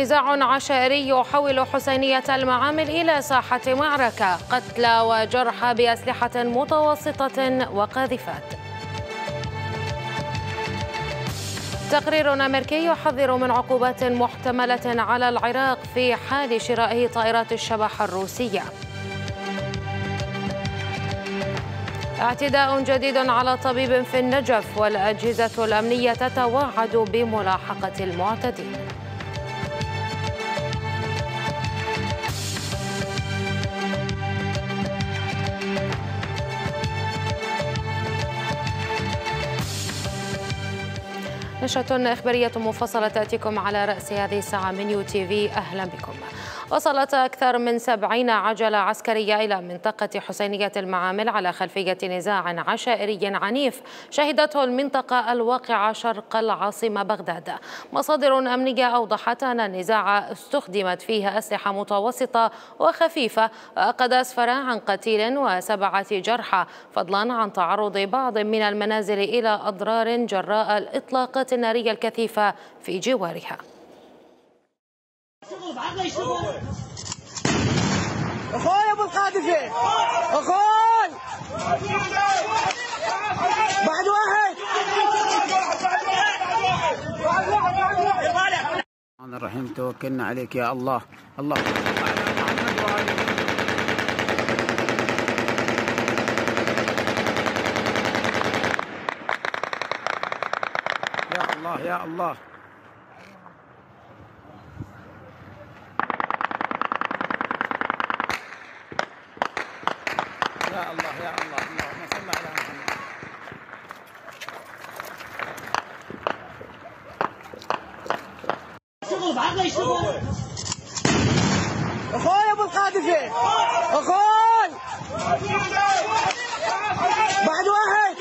نزاع عشائري يحول حسينية المعامل إلى ساحة معركة، قتلى وجرحى بأسلحة متوسطة وقاذفات. تقرير أمريكي يحذر من عقوبات محتملة على العراق في حال شرائه طائرات الشبح الروسية. اعتداء جديد على طبيب في النجف، والأجهزة الأمنية تتوعد بملاحقة المعتدين. نشرة إخبارية مفصلة تأتيكم على رأس هذه الساعة من يو تي في. أهلا بكم. وصلت أكثر من 70 عجلة عسكرية إلى منطقة حسينية المعامل على خلفية نزاع عشائري عنيف شهدته المنطقة الواقعة شرق العاصمة بغداد. مصادر أمنية أوضحت أن النزاع استخدمت فيه أسلحة متوسطة وخفيفة، وقد أسفر عن قتيل و7 جرحى، فضلا عن تعرض بعض من المنازل إلى أضرار جراء الإطلاقات النارية الكثيفة في جوارها. اخوي ابو القاذفه، اخوي بعد واحد. الرحمن الرحيم، توكلنا عليك يا الله. الله يا الله يا الله. يا الله يا الله. اللهم صل على محمد. شغل بعد يشتغل. اخوي ابو القاذفه، اخوي بعد واحد.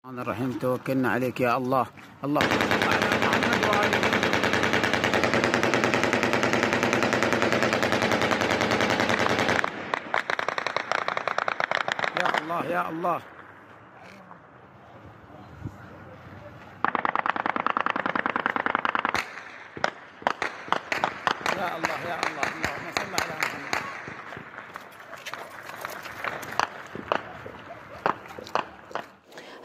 الرحمن الرحيم، توكلنا عليك يا الله. الله يا الله يا الله. يا الله يا الله. اللهم صل على محمد.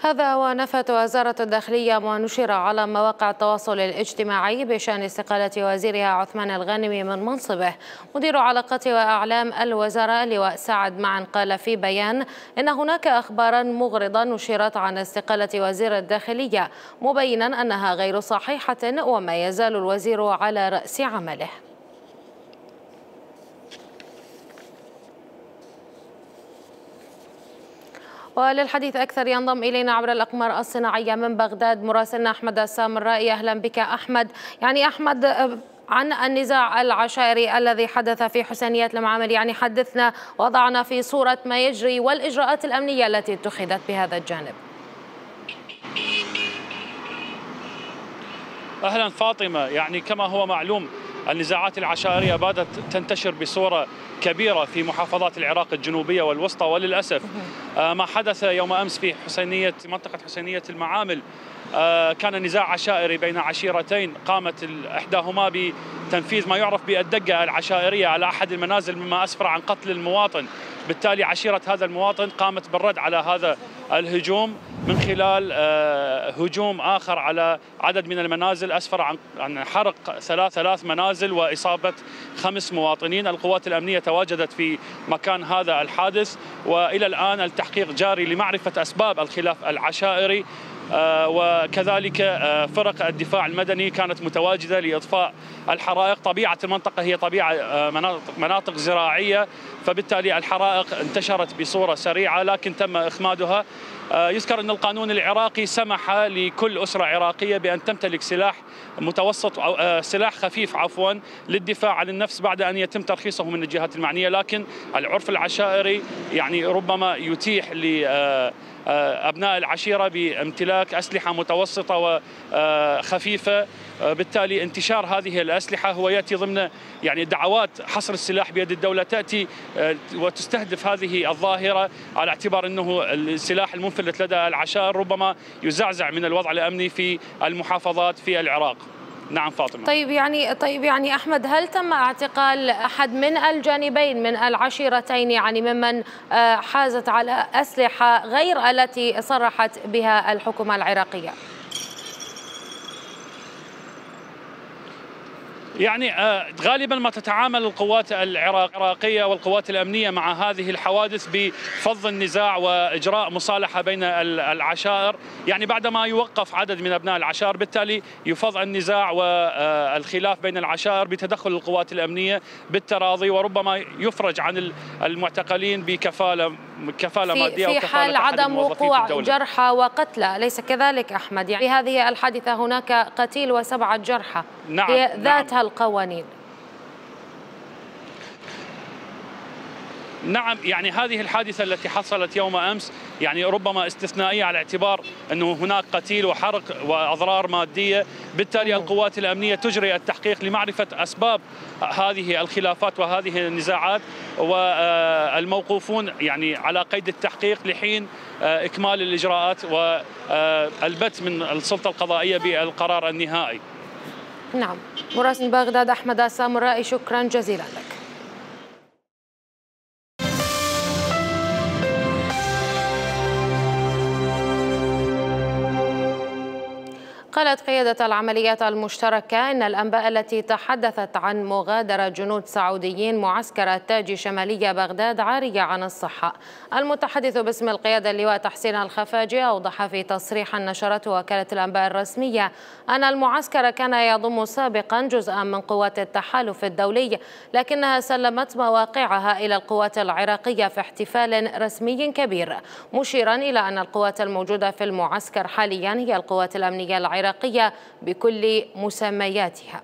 هذا ونفت وزارة الداخلية ونشر على مواقع التواصل الاجتماعي بشأن استقالة وزيرها عثمان الغانمي من منصبه. مدير علاقات وأعلام الوزارة اللواء سعد معن قال في بيان إن هناك أخبارا مغرضة نشرت عن استقالة وزير الداخلية، مبينا أنها غير صحيحة وما يزال الوزير على رأس عمله. وللحديث أكثر ينضم إلينا عبر الأقمار الصناعية من بغداد مراسلنا أحمد السامرائي. أهلا بك أحمد. أحمد، عن النزاع العشائري الذي حدث في حسينية المعامل، حدثنا وضعنا في صورة ما يجري والإجراءات الأمنية التي اتخذت بهذا الجانب. أهلا فاطمة، كما هو معلوم النزاعات العشائرية باتت تنتشر بصورة كبيرة في محافظات العراق الجنوبية والوسطى، وللأسف ما حدث يوم أمس في منطقة حسينية المعامل كان نزاع عشائري بين عشيرتين قامت إحداهما بتنفيذ ما يعرف بالدقة العشائرية على أحد المنازل، مما أسفر عن قتل المواطن. بالتالي عشيرة هذا المواطن قامت بالرد على هذا الهجوم من خلال هجوم آخر على عدد من المنازل، أسفر عن حرق ثلاث منازل وإصابة 5 مواطنين. القوات الأمنية تواجدت في مكان هذا الحادث، وإلى الآن التحقيق جاري لمعرفة أسباب الخلاف العشائري، وكذلك فرق الدفاع المدني كانت متواجدة لإطفاء الحرائق. طبيعة المنطقة هي طبيعة مناطق زراعية، فبالتالي الحرائق انتشرت بصورة سريعة لكن تم إخمادها. يذكر أن القانون العراقي سمح لكل أسرة عراقية بأن تمتلك سلاح متوسط أو سلاح خفيف للدفاع عن النفس بعد أن يتم ترخيصه من الجهات المعنية، لكن العرف العشائري ربما يتيح أبناء العشيرة بامتلاك أسلحة متوسطة وخفيفة بالتالي انتشار هذه الأسلحة هو يأتي ضمن يعني دعوات حصر السلاح بيد الدولة تأتي وتستهدف هذه الظاهرة على اعتبار أنه السلاح المنفلت لدى العشائر ربما يزعزع من الوضع الأمني في المحافظات في العراق. نعم فاطمة. طيب يعني أحمد، هل تم اعتقال أحد من الجانبين من العشيرتين، يعني ممن حازت على أسلحة غير التي صرحت بها الحكومة العراقية؟ يعني غالبا ما تتعامل القوات العراقية والقوات الأمنية مع هذه الحوادث بفض النزاع وإجراء مصالحة بين العشائر، يعني بعدما يوقف عدد من أبناء العشائر بالتالي يفض النزاع والخلاف بين العشائر بتدخل القوات الأمنية بالتراضي، وربما يفرج عن المعتقلين بكفالة مادية في حال عدم وقوع جرحى وقتلى، أليس كذلك أحمد؟ يعني في هذه الحادثة هناك قتيل و7 جرحى. نعم. هي ذاتها القوانين. نعم، يعني هذه الحادثة التي حصلت يوم أمس يعني ربما استثنائية على اعتبار أنه هناك قتيل وحرق وأضرار مادية، بالتالي القوات الأمنية تجري التحقيق لمعرفة أسباب هذه الخلافات وهذه النزاعات، والموقوفون يعني على قيد التحقيق لحين إكمال الإجراءات والبت من السلطة القضائية بالقرار النهائي. نعم، مراسل بغداد أحمد السامرائي، شكرا جزيلا لك. قالت قيادة العمليات المشتركة إن الأنباء التي تحدثت عن مغادرة جنود سعوديين معسكر التاج شمالي بغداد عارية عن الصحة. المتحدث باسم القيادة اللواء تحسين الخفاجي أوضح في تصريح نشرته وكالة الأنباء الرسمية أن المعسكر كان يضم سابقا جزءا من قوات التحالف الدولي، لكنها سلمت مواقعها إلى القوات العراقية في احتفال رسمي كبير، مشيرا إلى أن القوات الموجودة في المعسكر حاليا هي القوات الأمنية العراقية بكل مسمياتها.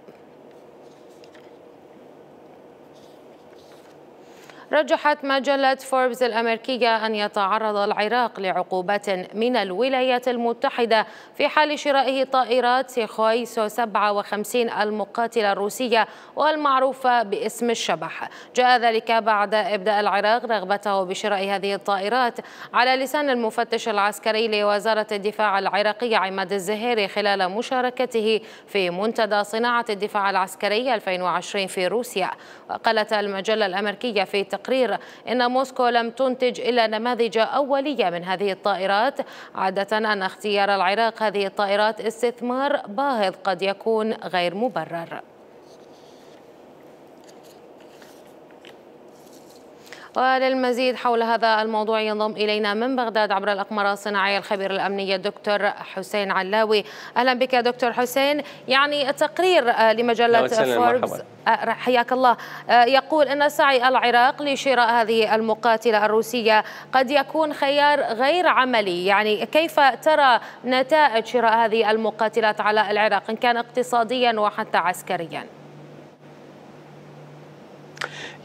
رجحت مجلة فوربس الأمريكية أن يتعرض العراق لعقوبات من الولايات المتحدة في حال شرائه طائرات سيخوي سو 57 المقاتلة الروسية والمعروفة باسم الشبح. جاء ذلك بعد إبداء العراق رغبته بشراء هذه الطائرات على لسان المفتش العسكري لوزارة الدفاع العراقية عماد الزهيري خلال مشاركته في منتدى صناعة الدفاع العسكري 2020 في روسيا. وقالت المجلة الأمريكية في تقرير إن موسكو لم تنتج إلا نماذج أولية من هذه الطائرات، عادة أن اختيار العراق هذه الطائرات استثمار باهظ قد يكون غير مبرر. وللمزيد حول هذا الموضوع ينضم إلينا من بغداد عبر الأقمار الصناعية الخبير الأمني الدكتور حسين علاوي. أهلا بك دكتور حسين. يعني تقرير لمجلة فوربس، حياك الله، يقول أن سعي العراق لشراء هذه المقاتلة الروسية قد يكون خيار غير عملي، يعني كيف ترى نتائج شراء هذه المقاتلات على العراق إن كان اقتصاديا وحتى عسكريا؟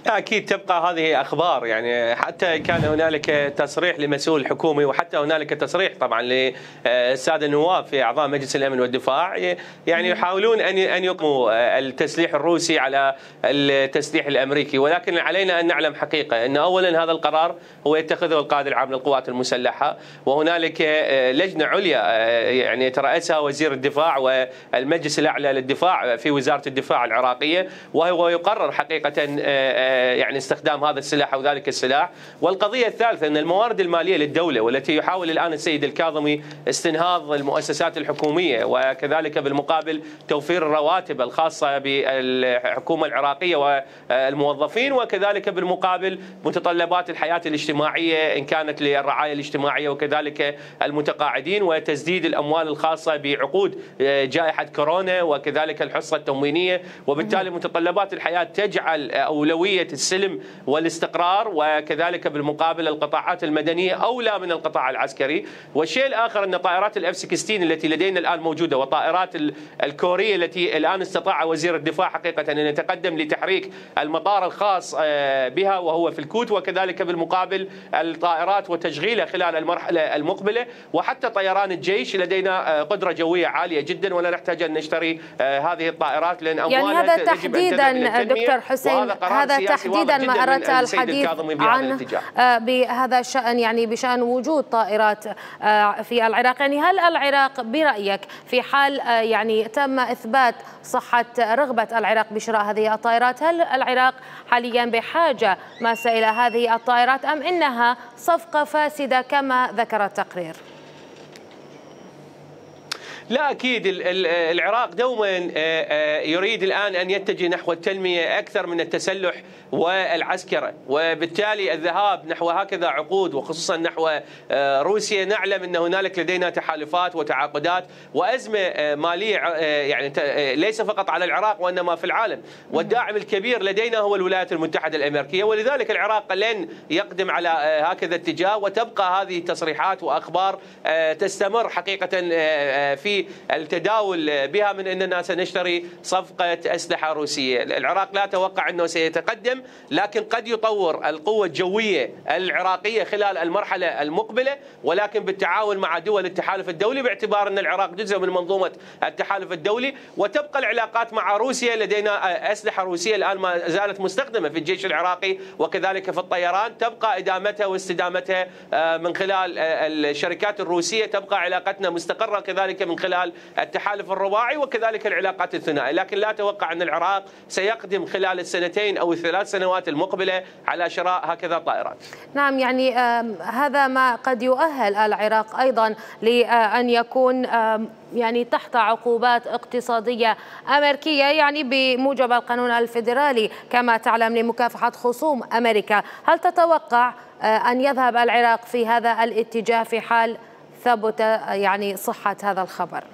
أكيد تبقى هذه أخبار، يعني حتى كان هنالك تصريح لمسؤول حكومي وحتى هنالك تصريح طبعا للسادة النواب في أعضاء مجلس الأمن والدفاع، يعني يحاولون أن يقوموا التسليح الروسي على التسليح الأمريكي، ولكن علينا أن نعلم حقيقة أن أولا هذا القرار هو يتخذه القائد العام للقوات المسلحة، وهنالك لجنة عليا يعني يترأسها وزير الدفاع والمجلس الأعلى للدفاع في وزارة الدفاع العراقية، وهو يقرر حقيقة يعني استخدام هذا السلاح أو ذلك السلاح. والقضية الثالثة أن الموارد المالية للدولة والتي يحاول الآن السيد الكاظمي استنهاض المؤسسات الحكومية وكذلك بالمقابل توفير الرواتب الخاصة بالحكومة العراقية والموظفين، وكذلك بالمقابل متطلبات الحياة الاجتماعية إن كانت للرعاية الاجتماعية وكذلك المتقاعدين، وتسديد الأموال الخاصة بعقود جائحة كورونا وكذلك الحصة التموينية، وبالتالي متطلبات الحياة تجعل أولوية عملية السلم والاستقرار، وكذلك بالمقابل القطاعات المدنية أولى من القطاع العسكري. والشيء الآخر أن طائرات الإف 16 التي لدينا الآن موجودة، وطائرات الكورية التي الآن استطاع وزير الدفاع حقيقة أن يتقدم لتحريك المطار الخاص بها وهو في الكوت، وكذلك بالمقابل الطائرات وتشغيلها خلال المرحلة المقبلة، وحتى طيران الجيش لدينا قدرة جوية عالية جدا، ولا نحتاج أن نشتري هذه الطائرات لأن أموالها يعني هذا تحديدا دكتور حسين، هذا تحديدا ما أردت الحديث عنه بهذا الشأن، يعني بشأن وجود طائرات في العراق. يعني هل العراق برأيك في حال يعني تم إثبات صحة رغبة العراق بشراء هذه الطائرات، هل العراق حاليا بحاجة ماسة إلى هذه الطائرات أم إنها صفقة فاسدة كما ذكر التقرير؟ لا أكيد العراق دوما يريد الآن أن يتجه نحو التنمية أكثر من التسلح والعسكرة، وبالتالي الذهاب نحو هكذا عقود وخصوصا نحو روسيا. نعلم أن هنالك لدينا تحالفات وتعاقدات وأزمة مالية يعني ليس فقط على العراق وإنما في العالم، والداعم الكبير لدينا هو الولايات المتحدة الأمريكية، ولذلك العراق لن يقدم على هكذا اتجاه، وتبقى هذه التصريحات وأخبار تستمر حقيقة في التداول بها من أننا سنشتري صفقة أسلحة روسية. العراق لا أتوقع أنه سيتقدم، لكن قد يطور القوة الجوية العراقية خلال المرحلة المقبلة، ولكن بالتعاون مع دول التحالف الدولي، باعتبار أن العراق جزء من منظومة التحالف الدولي. وتبقى العلاقات مع روسيا، لدينا أسلحة روسية الآن ما زالت مستخدمة في الجيش العراقي وكذلك في الطيران، تبقى إدامتها واستدامتها من خلال الشركات الروسية، تبقى علاقتنا مستقرة كذلك من خلال التحالف الرباعي وكذلك العلاقات الثنائية. لكن لا أتوقع أن العراق سيقدم خلال السنتين أو الثلاث سنوات المقبلة على شراء هكذا طائرات. نعم، يعني هذا ما قد يؤهل العراق أيضا لأن يكون يعني تحت عقوبات اقتصادية أمريكية، يعني بموجب القانون الفيدرالي كما تعلم لمكافحة خصوم أمريكا. هل تتوقع أن يذهب العراق في هذا الاتجاه في حال ثبت يعني صحة هذا الخبر؟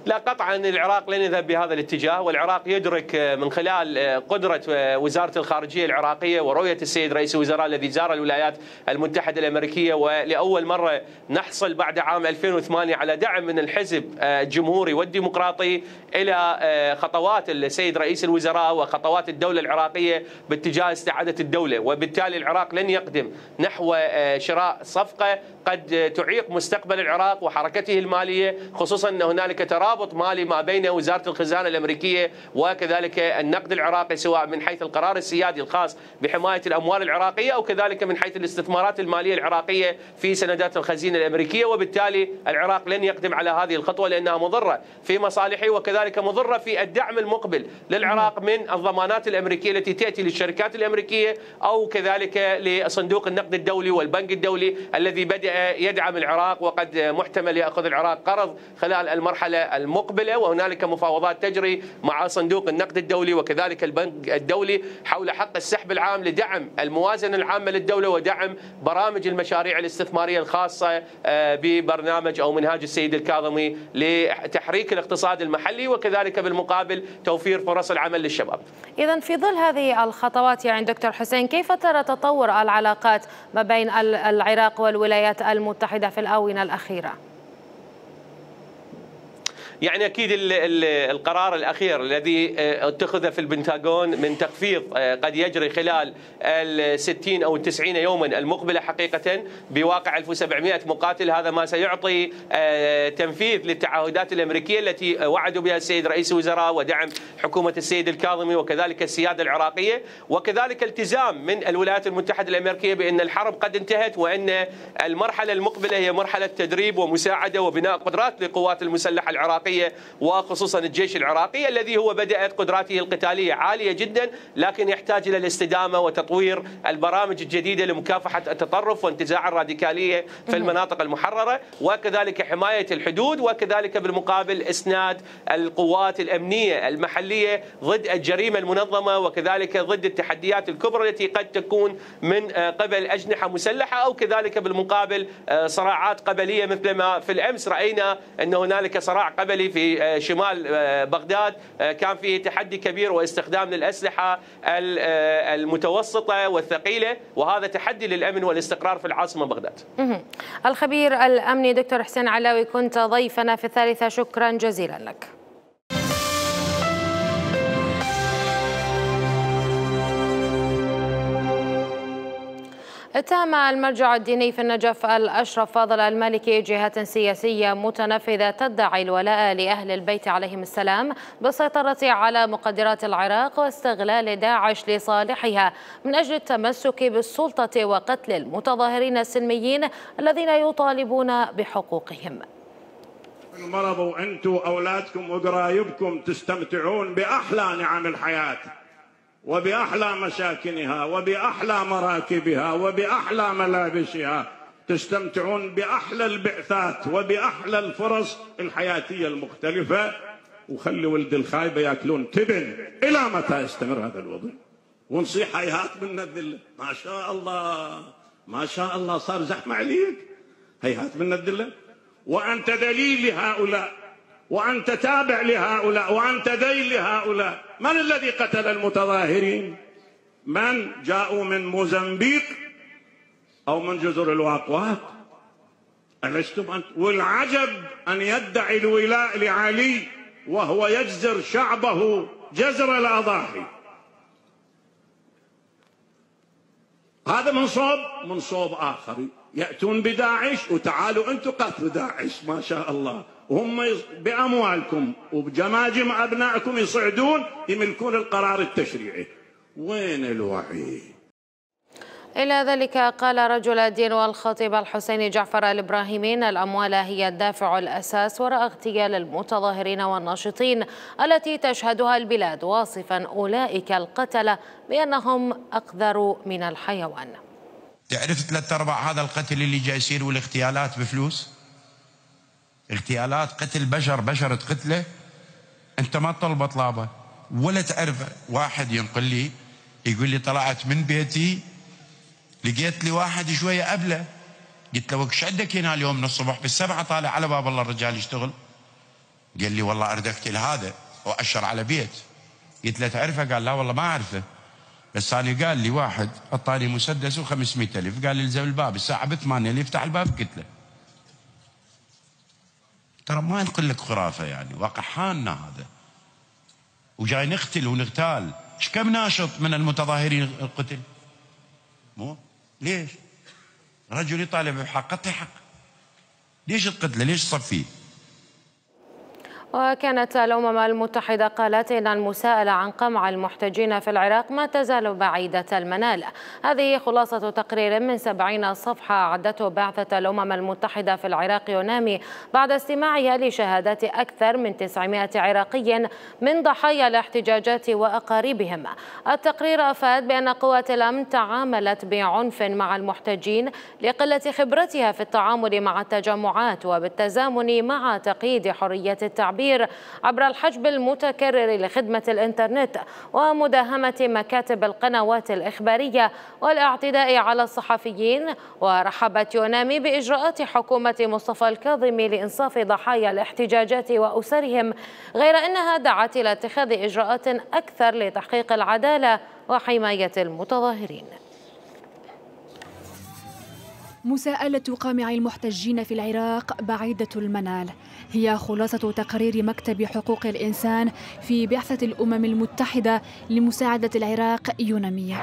لا قطعا العراق لن يذهب بهذا الاتجاه، والعراق يدرك من خلال قدرة وزارة الخارجية العراقية ورؤية السيد رئيس الوزراء الذي زار الولايات المتحدة الأمريكية، ولأول مرة نحصل بعد عام 2008 على دعم من الحزب الجمهوري والديمقراطي إلى خطوات السيد رئيس الوزراء وخطوات الدولة العراقية باتجاه استعادة الدولة. وبالتالي العراق لن يقدم نحو شراء صفقة قد تعيق مستقبل العراق وحركته المالية، خصوصا أن هنالك ترابط مالي ما بين وزارة الخزانة الأمريكية وكذلك النقد العراقي، سواء من حيث القرار السيادي الخاص بحماية الأموال العراقية أو كذلك من حيث الاستثمارات المالية العراقية في سندات الخزينة الأمريكية. وبالتالي العراق لن يقدم على هذه الخطوة لأنها مضرة في مصالحه وكذلك مضرة في الدعم المقبل للعراق من الضمانات الأمريكية التي تأتي للشركات الأمريكية أو كذلك لصندوق النقد الدولي والبنك الدولي الذي بدأ يدعم العراق، وقد محتمل يأخذ العراق قرض خلال المرحلة المقبلة. وهنالك مفاوضات تجري مع صندوق النقد الدولي وكذلك البنك الدولي حول حق السحب العام لدعم الموازنة العامة للدولة ودعم برامج المشاريع الاستثمارية الخاصة ببرنامج أو منهاج السيد الكاظمي لتحريك الاقتصاد المحلي وكذلك بالمقابل توفير فرص العمل للشباب. إذن في ظل هذه الخطوات يعني دكتور حسين، كيف ترى تطور العلاقات ما بين العراق والولايات المتحدة في الآونة الأخيرة؟ يعني أكيد القرار الأخير الذي اتخذ في البنتاغون من تخفيض قد يجري خلال 60 أو 90 يوما المقبلة حقيقة بواقع 1700 مقاتل، هذا ما سيعطي تنفيذ للتعهدات الأمريكية التي وعدوا بها السيد رئيس الوزراء ودعم حكومة السيد الكاظمي وكذلك السيادة العراقية، وكذلك التزام من الولايات المتحدة الأمريكية بأن الحرب قد انتهت وأن المرحلة المقبلة هي مرحلة تدريب ومساعدة وبناء قدرات للقوات المسلحة العراقية وخصوصا الجيش العراقي الذي هو بدأت قدراته القتالية عالية جدا، لكن يحتاج إلى الاستدامة وتطوير البرامج الجديدة لمكافحة التطرف وانتزاع الراديكالية في المناطق المحررة وكذلك حماية الحدود وكذلك بالمقابل إسناد القوات الأمنية المحلية ضد الجريمة المنظمة وكذلك ضد التحديات الكبرى التي قد تكون من قبل أجنحة مسلحة أو كذلك بالمقابل صراعات قبلية، مثل ما في الأمس رأينا أن هنالك صراع قبلي الداخلي في شمال بغداد كان فيه تحدي كبير واستخدام للأسلحة المتوسطة والثقيلة، وهذا تحدي للأمن والاستقرار في العاصمة بغداد. الخبير الأمني دكتور حسين علاوي كنت ضيفنا في الثالثة، شكرا جزيلا لك. اتهم المرجع الديني في النجف الأشرف فاضل المالكي جهات سياسية متنفذة تدعي الولاء لأهل البيت عليهم السلام بالسيطرة على مقدرات العراق واستغلال داعش لصالحها من أجل التمسك بالسلطة وقتل المتظاهرين السلميين الذين يطالبون بحقوقهم. المرض وأنتم أولادكم وقرايبكم تستمتعون بأحلى نعم الحياة وبأحلى مساكنها وبأحلى مراكبها وبأحلى ملابسها، تستمتعون بأحلى البعثات وبأحلى الفرص الحياتية المختلفة، وخلي ولد الخايبة يأكلون تبن. إلى متى يستمر هذا الوضع؟ ونصيح هيهات من الذلة. ما شاء الله ما شاء الله صار زحمة عليك، هيهات من الذلة، وأنت دليل لهؤلاء وأنت تابع لهؤلاء وأنت ذيل لهؤلاء. من الذي قتل المتظاهرين؟ من جاءوا من موزمبيق أو من جزر الواقوات؟ ألستم أنت؟ والعجب أن يدعي الولاء لعلي وهو يجزر شعبه جزر الأضاحي. هذا من صوب آخر، يأتون بداعش وتعالوا أنتم قتلوا داعش. ما شاء الله، وهم بأموالكم وبجماجم أبنائكم يصعدون يملكون القرار التشريعي. وين الوعي؟ إلى ذلك قال رجل الدين والخطيب الحسيني جعفر الإبراهيمي: الأموال هي الدافع الأساس وراء اغتيال المتظاهرين والناشطين التي تشهدها البلاد، واصفا أولئك القتلة بأنهم أقذر من الحيوان. تعرف 3/4 هذا القتل اللي جاي يصير والاغتيالات بفلوس؟ اغتيالات قتل بشر تقتله انت ما تطلبه طلابه ولا تعرفه. واحد ينقل لي يقول لي طلعت من بيتي لقيت لي واحد شويه قبله، قلت له وش عندك هنا اليوم من الصبح؟ بالسبعة طالع على باب الله الرجال يشتغل. قال لي والله اريد اقتل هذا واشر على بيت. قلت له تعرفه؟ قال لا والله ما اعرفه، بس انا قال لي واحد اعطاني مسدس و500,000، قال لي الزم الباب الساعه ب8 اللي يفتح الباب. قلت له ترى ما نقول لك خرافه، يعني واقع حالنا هذا، وجاي نقتل ونغتال. ايش كم ناشط من المتظاهرين القتل؟ مو ليش؟ رجل يطالب بحق قطع حق، ليش تقتله؟ ليش تصفيه؟ وكانت الأمم المتحدة قالت إن المساءلة عن قمع المحتجين في العراق ما تزال بعيدة المنال. هذه خلاصة تقرير من 70 صفحة أعدته بعثة الأمم المتحدة في العراق يونامي بعد استماعها لشهادات أكثر من 900 عراقي من ضحايا الاحتجاجات وأقاربهم. التقرير أفاد بأن قوات الأمن تعاملت بعنف مع المحتجين لقلة خبرتها في التعامل مع التجمعات وبالتزامن مع تقييد حرية التعبير عبر الحجب المتكرر لخدمة الإنترنت ومداهمة مكاتب القنوات الإخبارية والاعتداء على الصحفيين. ورحبت يونامي بإجراءات حكومة مصطفى الكاظمي لإنصاف ضحايا الاحتجاجات وأسرهم، غير أنها دعت إلى اتخاذ إجراءات أكثر لتحقيق العدالة وحماية المتظاهرين. مساءلة قامع المحتجين في العراق بعيدة المنال هي خلاصة تقرير مكتب حقوق الإنسان في بعثة الأمم المتحدة لمساعدة العراق يونامي.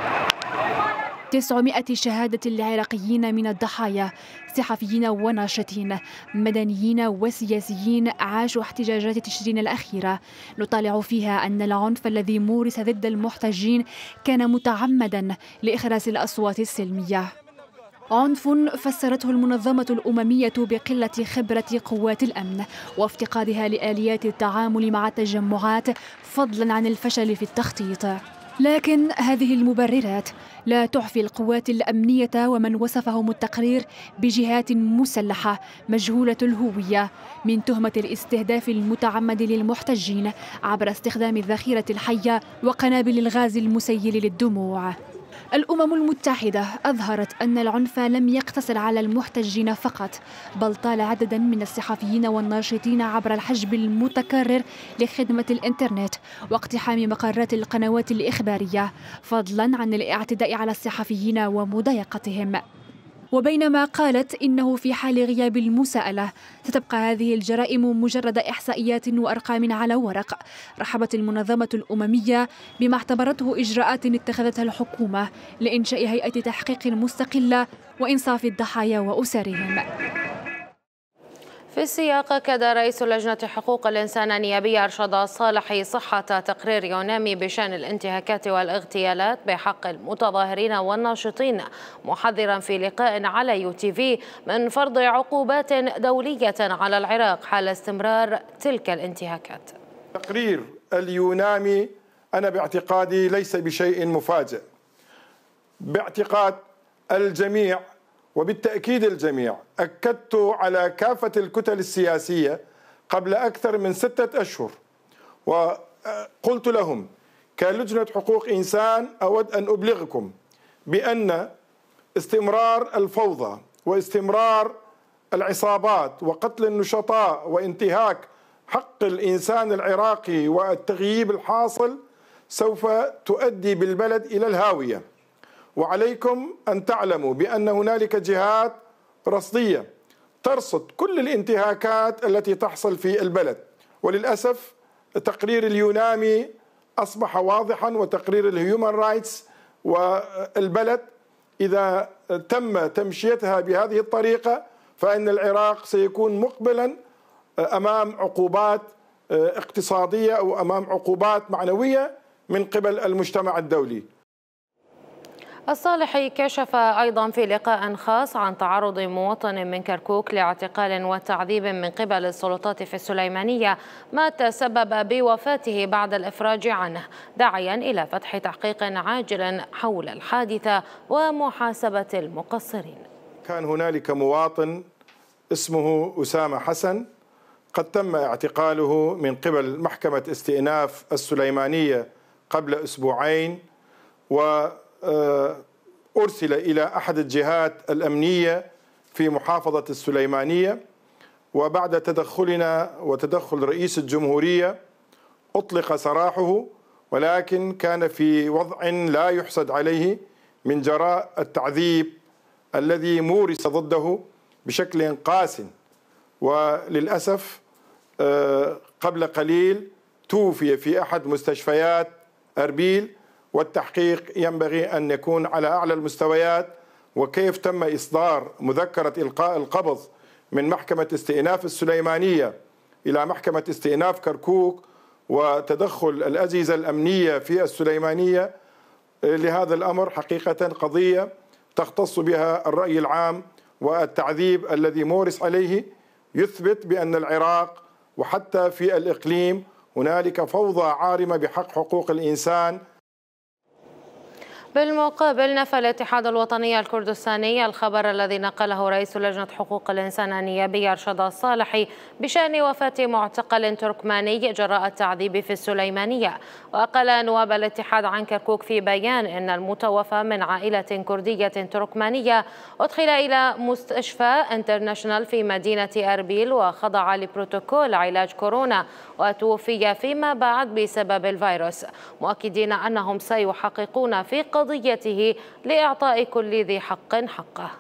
900 شهادة لعراقيين من الضحايا، صحفيين وناشطين، مدنيين وسياسيين عاشوا احتجاجات تشرين الأخيرة، نطالع فيها أن العنف الذي مورس ضد المحتجين كان متعمدا لإخراس الأصوات السلمية. عنف فسرته المنظمة الأممية بقلة خبرة قوات الأمن وافتقادها لآليات التعامل مع التجمعات فضلا عن الفشل في التخطيط. لكن هذه المبررات لا تعفي القوات الأمنية ومن وصفهم التقرير بجهات مسلحة مجهولة الهوية من تهمة الاستهداف المتعمد للمحتجين عبر استخدام الذخيرة الحية وقنابل الغاز المسيل للدموع. الأمم المتحدة أظهرت أن العنف لم يقتصر على المحتجين فقط، بل طال عددا من الصحفيين والناشطين عبر الحجب المتكرر لخدمة الإنترنت واقتحام مقرات القنوات الإخبارية، فضلا عن الاعتداء على الصحفيين ومضايقتهم. وبينما قالت إنه في حال غياب المساءلة ستبقى هذه الجرائم مجرد إحصائيات وأرقام على ورق، رحبت المنظمة الأممية بما اعتبرته إجراءات اتخذتها الحكومة لإنشاء هيئة تحقيق مستقلة وإنصاف الضحايا وأسرهم. في السياق أكد رئيس لجنة حقوق الإنسان النيابية أرشد الصالحي صحة تقرير يونامي بشأن الانتهاكات والاغتيالات بحق المتظاهرين والناشطين، محذرا في لقاء على UTV من فرض عقوبات دولية على العراق حال استمرار تلك الانتهاكات. تقرير اليونامي أنا باعتقادي ليس بشيء مفاجئ، باعتقاد الجميع وبالتأكيد الجميع. أكدت على كافة الكتل السياسية قبل أكثر من 6 أشهر وقلت لهم كلجنة حقوق إنسان أود أن أبلغكم بأن استمرار الفوضى واستمرار العصابات وقتل النشطاء وانتهاك حق الإنسان العراقي والتغييب الحاصل سوف تؤدي بالبلد إلى الهاوية. وعليكم أن تعلموا بأن هنالك جهات رصدية ترصد كل الانتهاكات التي تحصل في البلد، وللأسف تقرير اليونامي أصبح واضحا وتقرير الهيومن رايتس، والبلد إذا تم تمشيتها بهذه الطريقة فإن العراق سيكون مقبلا أمام عقوبات اقتصادية أو أمام عقوبات معنوية من قبل المجتمع الدولي. الصالحي كشف أيضا في لقاء خاص عن تعرض مواطن من كركوك لاعتقال وتعذيب من قبل السلطات في السليمانية، ما تسبب بوفاته بعد الإفراج عنه، داعيا إلى فتح تحقيق عاجل حول الحادثة ومحاسبة المقصرين. كان هنالك مواطن اسمه أسامة حسن قد تم اعتقاله من قبل محكمة استئناف السليمانية قبل أسبوعين، وأرسل إلى أحد الجهات الأمنية في محافظة السليمانية، وبعد تدخلنا وتدخل رئيس الجمهورية أطلق سراحه، ولكن كان في وضع لا يحسد عليه من جراء التعذيب الذي مورس ضده بشكل قاس. وللأسف قبل قليل توفي في أحد مستشفيات أربيل، والتحقيق ينبغي أن يكون على أعلى المستويات. وكيف تم إصدار مذكرة إلقاء القبض من محكمة استئناف السليمانية إلى محكمة استئناف كركوك وتدخل الأجهزة الأمنية في السليمانية لهذا الأمر حقيقة قضية تختص بها الرأي العام، والتعذيب الذي مورس عليه يثبت بأن العراق وحتى في الإقليم هنالك فوضى عارمة بحق حقوق الإنسان. بالمقابل نفى الاتحاد الوطني الكردستاني الخبر الذي نقله رئيس لجنة حقوق الإنسان النيابية أرشد الصالحي بشأن وفاة معتقل تركماني جراء التعذيب في السليمانية. وقال نواب الاتحاد عن كركوك في بيان إن المتوفى من عائلة كردية تركمانية أدخل إلى مستشفى انترناشنال في مدينة أربيل وخضع لبروتوكول علاج كورونا، وتوفي فيما بعد بسبب الفيروس، مؤكدين أنهم سيحققون في قضيته لإعطاء كل ذي حق حقه.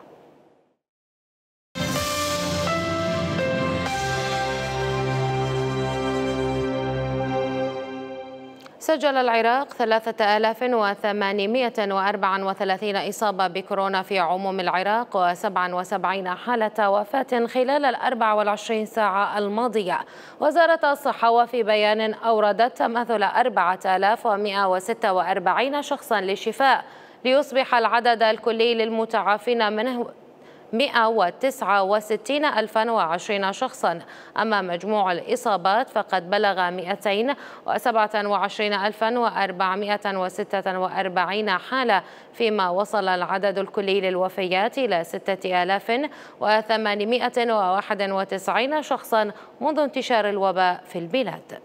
سجل العراق 3834 إصابة بكورونا في عموم العراق و77 حالة وفاة خلال 24 ساعة الماضية. وزارة الصحة وفي بيان أوردت تماثل 4146 شخصا للشفاء، ليصبح العدد الكلي للمتعافين منه 169,020 شخصا. أما مجموع الإصابات فقد بلغ 227,446 حالة، فيما وصل العدد الكلي للوفيات إلى 6,891 شخصا منذ انتشار الوباء في البلاد.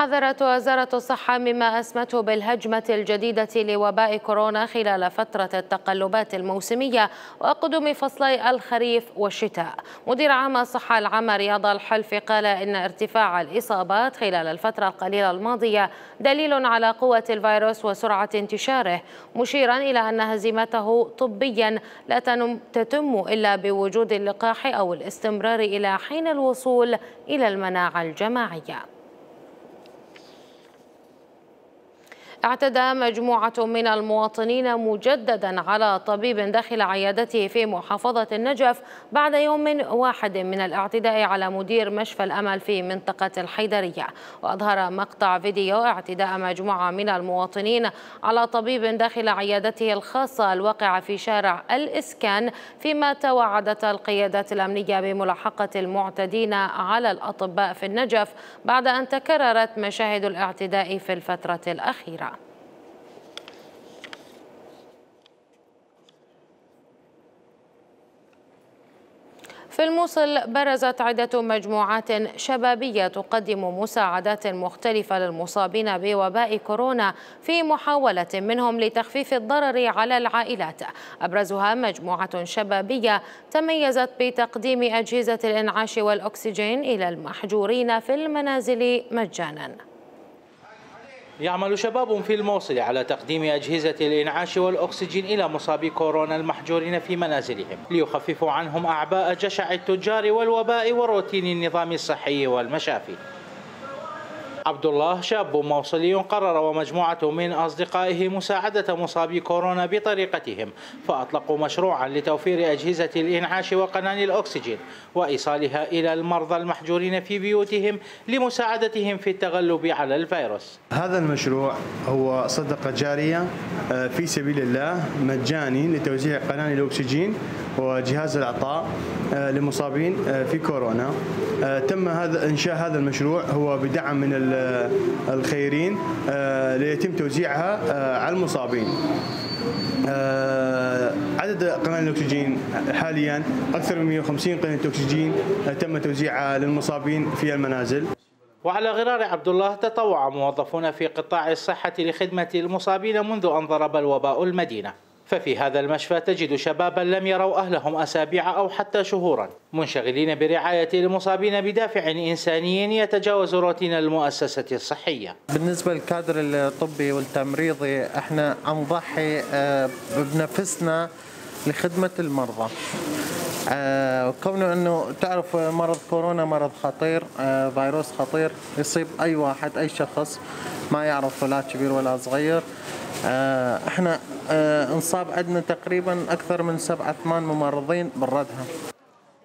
حذرت وزارة الصحة مما أسمته بالهجمة الجديدة لوباء كورونا خلال فترة التقلبات الموسمية وقدوم فصلي الخريف والشتاء. مدير عام الصحة العامة رياض الحلفي قال إن ارتفاع الإصابات خلال الفترة القليلة الماضية دليل على قوة الفيروس وسرعة انتشاره، مشيرا إلى أن هزيمته طبيا لا تتم إلا بوجود اللقاح أو الاستمرار إلى حين الوصول إلى المناعة الجماعية. اعتدى مجموعة من المواطنين مجددا على طبيب داخل عيادته في محافظة النجف بعد يوم واحد من الاعتداء على مدير مشفى الأمل في منطقة الحيدرية. وأظهر مقطع فيديو اعتداء مجموعة من المواطنين على طبيب داخل عيادته الخاصة الواقعة في شارع الإسكان، فيما توعدت القيادات الأمنية بملاحقة المعتدين على الأطباء في النجف بعد أن تكررت مشاهد الاعتداء في الفترة الأخيرة. في الموصل برزت عدة مجموعات شبابية تقدم مساعدات مختلفة للمصابين بوباء كورونا في محاولة منهم لتخفيف الضرر على العائلات. أبرزها مجموعة شبابية تميزت بتقديم أجهزة الإنعاش والأكسجين إلى المحجورين في المنازل مجانا. يعمل شباب في الموصل على تقديم أجهزة الإنعاش والأكسجين إلى مصابي كورونا المحجورين في منازلهم ليخففوا عنهم أعباء جشع التجار والوباء وروتين النظام الصحي والمشافي. عبد الله شاب موصلي قرر ومجموعة من أصدقائه مساعدة مصابي كورونا بطريقتهم، فأطلقوا مشروعا لتوفير أجهزة الإنعاش وقناني الأكسجين وإيصالها إلى المرضى المحجورين في بيوتهم لمساعدتهم في التغلب على الفيروس. هذا المشروع هو صدقة جارية في سبيل الله مجاني لتوزيع قناني الأكسجين وجهاز الإعطاء لمصابين في كورونا. تم إنشاء هذا المشروع هو بدعم من الخيرين ليتم توزيعها على المصابين. عدد قناني الأكسجين حاليا أكثر من 150 قناة أكسجين تم توزيعها للمصابين في المنازل. وعلى غرار عبد الله تطوع موظفون في قطاع الصحة لخدمة المصابين منذ أن ضرب الوباء المدينة. ففي هذا المشفى تجد شبابا لم يروا أهلهم أسابيع أو حتى شهورا، منشغلين برعاية المصابين بدافع إنساني يتجاوز روتين المؤسسة الصحية. بالنسبة للكادر الطبي والتمريضي احنا نضحي بنفسنا لخدمة المرضى. كونه انه تعرف مرض كورونا مرض خطير، فيروس خطير يصيب اي واحد اي شخص ما يعرف لا كبير ولا صغير. احنا انصاب عندنا تقريبا اكثر من 7-8 ممرضين بنردها.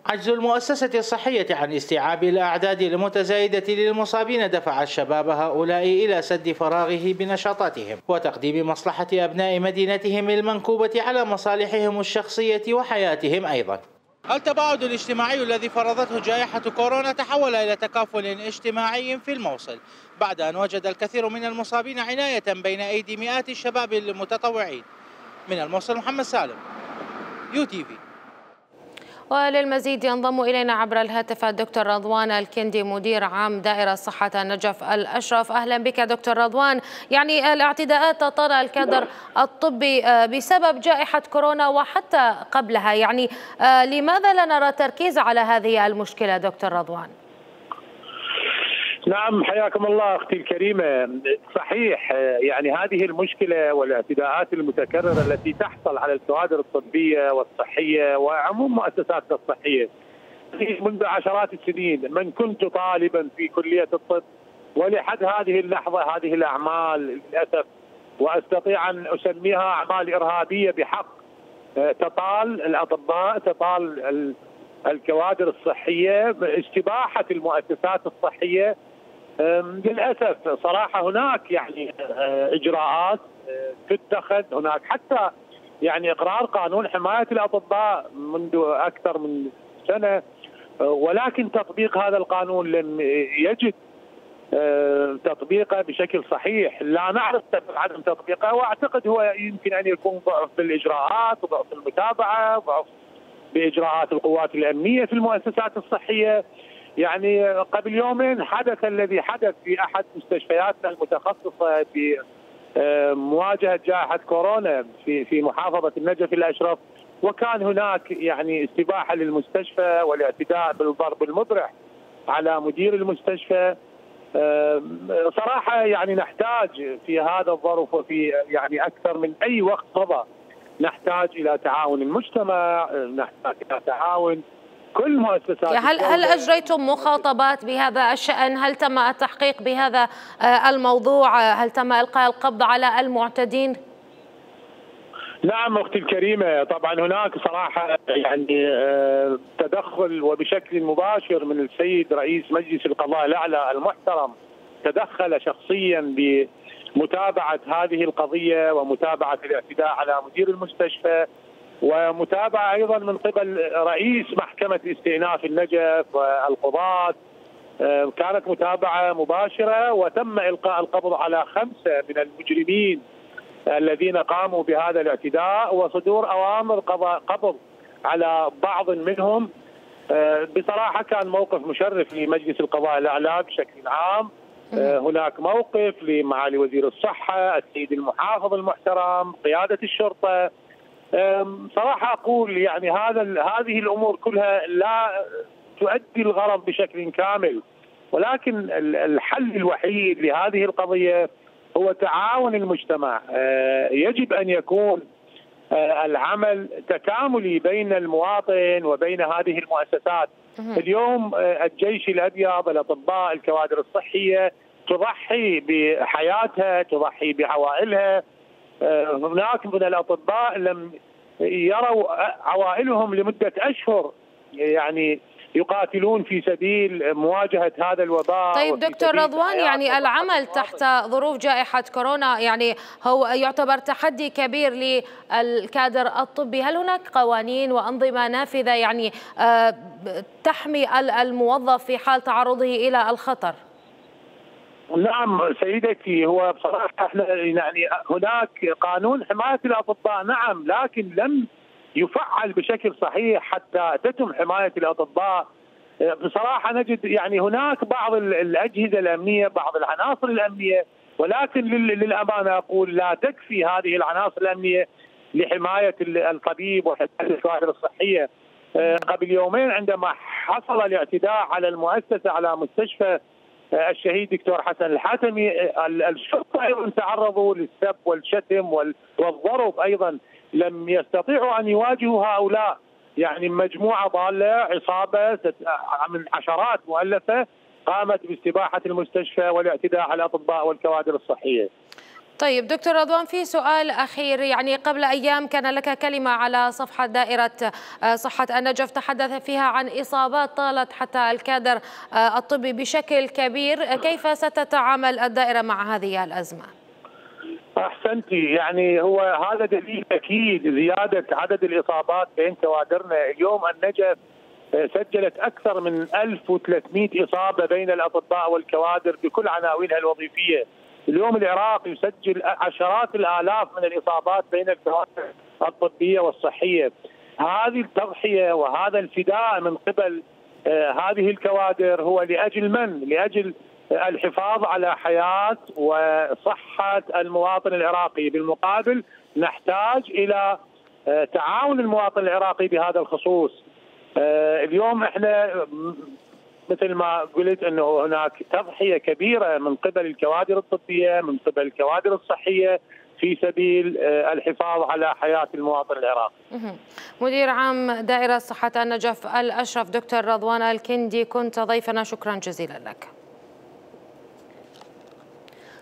عجز المؤسسة الصحية عن استيعاب الأعداد المتزايدة للمصابين دفع الشباب هؤلاء إلى سد فراغه بنشاطاتهم وتقديم مصلحة أبناء مدينتهم المنكوبة على مصالحهم الشخصية وحياتهم أيضا. التباعد الاجتماعي الذي فرضته جائحة كورونا تحول إلى تكافل اجتماعي في الموصل بعد أن وجد الكثير من المصابين عناية بين أيدي مئات الشباب المتطوعين. من الموصل محمد سالم، UTV. وللمزيد ينضم إلينا عبر الهاتف الدكتور رضوان الكندي مدير عام دائرة صحة النجف الأشرف. أهلا بك دكتور رضوان. يعني الاعتداءات تطال الكادر الطبي بسبب جائحة كورونا وحتى قبلها، يعني لماذا لا نرى تركيز على هذه المشكلة دكتور رضوان؟ نعم، حياكم الله أختي الكريمة. صحيح، يعني هذه المشكلة والاعتداءات المتكررة التي تحصل على الكوادر الطبية والصحية وعموم مؤسساتنا الصحية منذ عشرات السنين. من كنت طالبا في كلية الطب ولحد هذه اللحظة هذه الأعمال للأسف وأستطيع أن أسميها أعمال إرهابية بحق تطال الأطباء، تطال الكوادر الصحية، استباحة المؤسسات الصحية. للأسف صراحة هناك يعني إجراءات تتخذ، هناك حتى يعني إقرار قانون حماية الأطباء منذ أكثر من سنة، ولكن تطبيق هذا القانون لم يجد تطبيقه بشكل صحيح. لا نعرف عدم تطبيقه، وأعتقد هو يمكن أن يكون ضعف بالإجراءات وضعف المتابعة وضعف بإجراءات القوات الأمنية في المؤسسات الصحية. يعني قبل يومين حدث الذي حدث في أحد مستشفياتنا المتخصصة بمواجهة جائحة كورونا في محافظة النجف الأشرف، وكان هناك يعني استباحة للمستشفى والاعتداء بالضرب المبرح على مدير المستشفى. صراحة يعني نحتاج في هذا الظرف وفي يعني أكثر من أي وقت مضى نحتاج إلى تعاون المجتمع، نحتاج إلى تعاون كل مؤسسات. هل أجريتم مخاطبات بهذا الشأن؟ هل تم التحقيق بهذا الموضوع؟ هل تم إلقاء القبض على المعتدين؟ نعم أختي الكريمة، طبعا هناك صراحة يعني تدخل وبشكل مباشر من السيد رئيس مجلس القضاء الأعلى المحترم، تدخل شخصيا بمتابعة هذه القضية ومتابعة الاعتداء على مدير المستشفى، ومتابعة أيضا من قبل رئيس محكمة استئناف النجف والقضاة. كانت متابعة مباشرة وتم إلقاء القبض على 5 من المجرمين الذين قاموا بهذا الاعتداء وصدور أوامر قبض على بعض منهم. بصراحة كان موقف مشرف لمجلس القضاء الأعلى بشكل عام. هناك موقف لمعالي وزير الصحة، السيد المحافظ المحترم، قيادة الشرطة. صراحة أقول يعني هذه الأمور كلها لا تؤدي الغرض بشكل كامل، ولكن الحل الوحيد لهذه القضية هو تعاون المجتمع. يجب أن يكون العمل تكاملي بين المواطن وبين هذه المؤسسات. اليوم الجيش الأبيض، الأطباء، الكوادر الصحية تضحي بحياتها، تضحي بعوائلها. هناك من الأطباء لم يروا عوائلهم لمدة أشهر يعني يقاتلون في سبيل مواجهة هذا الوباء. طيب دكتور رضوان، يعني العمل تحت ظروف جائحة كورونا يعني هو يعتبر تحدي كبير للكادر الطبي. هل هناك قوانين وأنظمة نافذة يعني تحمي الموظف في حال تعرضه إلى الخطر؟ نعم سيدتي، هو بصراحة احنا يعني هناك قانون حماية الأطباء نعم، لكن لم يفعل بشكل صحيح حتى تتم حماية الأطباء. بصراحة نجد يعني هناك بعض الأجهزة الأمنية، بعض العناصر الأمنية، ولكن للأمانة أقول لا تكفي هذه العناصر الأمنية لحماية الطبيب وحماية الكوادر الصحية. قبل يومين عندما حصل الاعتداء على المؤسسة، على مستشفى الشهيد دكتور حسن الحاتمي، الشرطة أيضا تعرضوا للسب والشتم والضرب أيضا. لم يستطيعوا أن يواجهوا هؤلاء، يعني مجموعة ضالة، عصابة من عشرات مؤلفة قامت باستباحة المستشفى والاعتداء على الأطباء والكوادر الصحية. طيب دكتور رضوان، في سؤال أخير، يعني قبل أيام كان لك كلمة على صفحة دائرة صحة النجف تحدث فيها عن إصابات طالت حتى الكادر الطبي بشكل كبير، كيف ستتعامل الدائرة مع هذه الأزمة؟ أحسنتي، يعني هو هذا دليل أكيد زيادة عدد الإصابات بين كوادرنا. اليوم النجف سجلت أكثر من 1300 إصابة بين الأطباء والكوادر بكل عناوينها الوظيفية. اليوم العراق يسجل عشرات الآلاف من الإصابات بين الكوادر الطبية والصحية. هذه التضحية وهذا الفداء من قبل هذه الكوادر هو لأجل من؟ لأجل الحفاظ على حياة وصحة المواطن العراقي. بالمقابل نحتاج إلى تعاون المواطن العراقي بهذا الخصوص. اليوم احنا مثل ما قلت انه هناك تضحية كبيرة من قبل الكوادر الطبية، من قبل الكوادر الصحية في سبيل الحفاظ على حياة المواطن العراقي. مدير عام دائرة صحة النجف الأشرف دكتور رضوان الكندي، كنت ضيفنا، شكرا جزيلا لك.